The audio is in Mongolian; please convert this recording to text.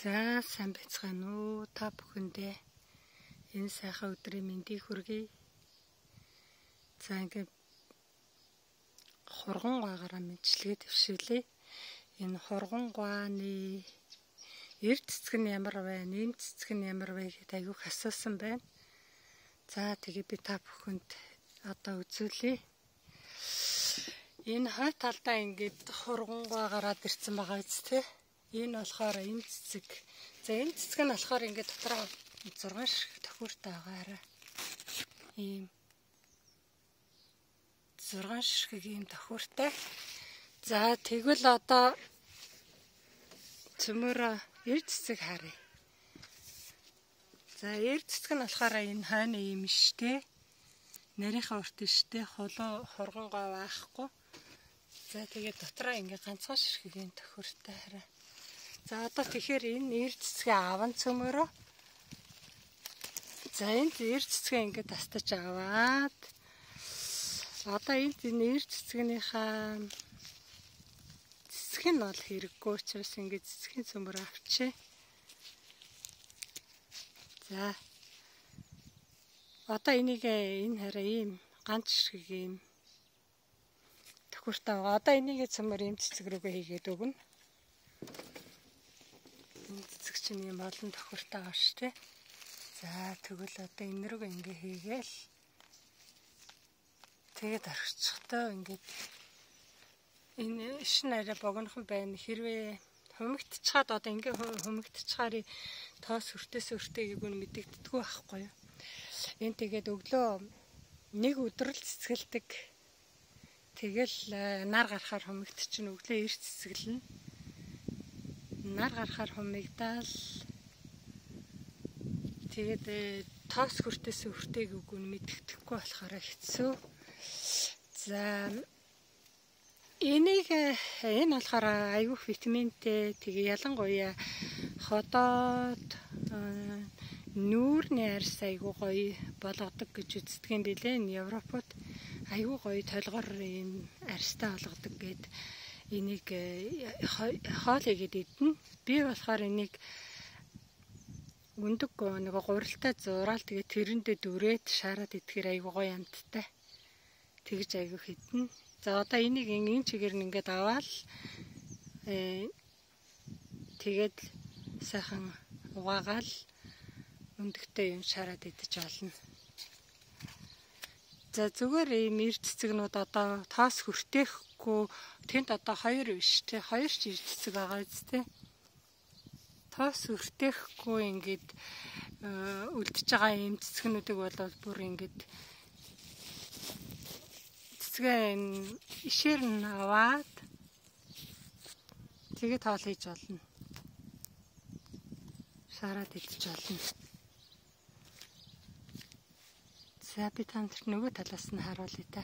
За сайн байцгаана уу та бүхэндээ энэ сайхан өдрийн мэндийг хүргэе. За ингээд хургангуйгаараа мэдлэгээ төвшүүлээ. Энэ хургангуйны эрд цэцэг нь ямар байна, эм цэцэг нь ямар вэ гэдээ аюух асуусан байна. За тэгээ би та бүхэнд одоо үзүүлье. Энэ хой талдаа ингээд хургангуй гараад ирсэн байгаа биз дээ. Энэ болохоор эм цэцэг. За эм цэцэг нь болохоор ингээд дотроо 6 шиг тохиуртай байгаараа. Ийм 6 шиг ийм тохиуртай. За тэгвэл одоо цөмөрөө эрд цэцэг харъя. За эрд цэцэг нь болохоор энэ хойны ийм штэ. Нарийнхаа урт штэ хургангуй байхгүй. За тэгээд дотроо ингээ ганцхан ширхгийн тохиуртай хараа. За одоо тэгэхээр энэ эрд цэцгээ аван цөмөрөө. За энд эрд цэцгээ ингээ тастаж аваад одоо энд энэ эрд цэцгийнхаа цэцэг нь бол хэрэггүй учраас ингээ цэцгийн цөмөр авчээ. За одоо энийг энэ хараа ийм ганц ширхэг ийм тохиуртай байгаа. Одоо энийг цөмөр эм цэцэг рүүгээ хийгээд өгнө. Энэ цэцэг чинь ийм олон тохиуртай байгаа шүү дээ. За тэгвэл одоо энэ рүүгээ ингээ хийгээл. Тэгээд орчихтой ингээд энэ шин арай богинохон байна. Хэрвээ хумигдчихад одоо ингээ хумигдчихаар тоос хүртээс хүртэйг нь мэдэгддэггүй байхгүй юу. Энэ тэгээд өглөө нэг өдрөл цэцгэлдэг. Тэгэл нар гарахаар хумигдчихна. Өглөө эрт цэцгэлнэ. Нар гарахаар хумигдаал. Тэгээд тоос хүртээс хүртэйг нь мэдэгдэхгүй болохоор хэцүү. За энэ болохоор аюух витаминтэй. Тэгээ ялангуяа ходоод нүүрний арьс аюу гоё болгодог гэж үздэг юм билээ. Энэ Европод аюу гоё толгор ийм арьстай болгодог гэд энийг хоол игээд идэнэ. Би болохоор энийг өндөг нэг гурилтай зураал тэгээ тэрэндээ дүрээд шаарад идэхээр аюу гоё амттай. Тэгж аюу хитэн. За одоо энийг энэ чигээр нь ингээд аваад тэгээд сайхан угаагаал өндөгтэй юм шаарад идэж олно. За зүгээр ийм эрд цэцэгнүүд одоо тоос хүртээхгүй тэнд одоо 2 биш те 2 ч эрд цэцэг байгаа үстэй. Тоос хүртээхгүй ингээд үлдчихэж байгаа ийм цэцгнүүдийг бол бүр ингээд цэцгээ ишээр нь аваад тэгээ тоол хийж болно. Шаарад идэж олно. За би танд нөгөө талаас нь харуулъя та.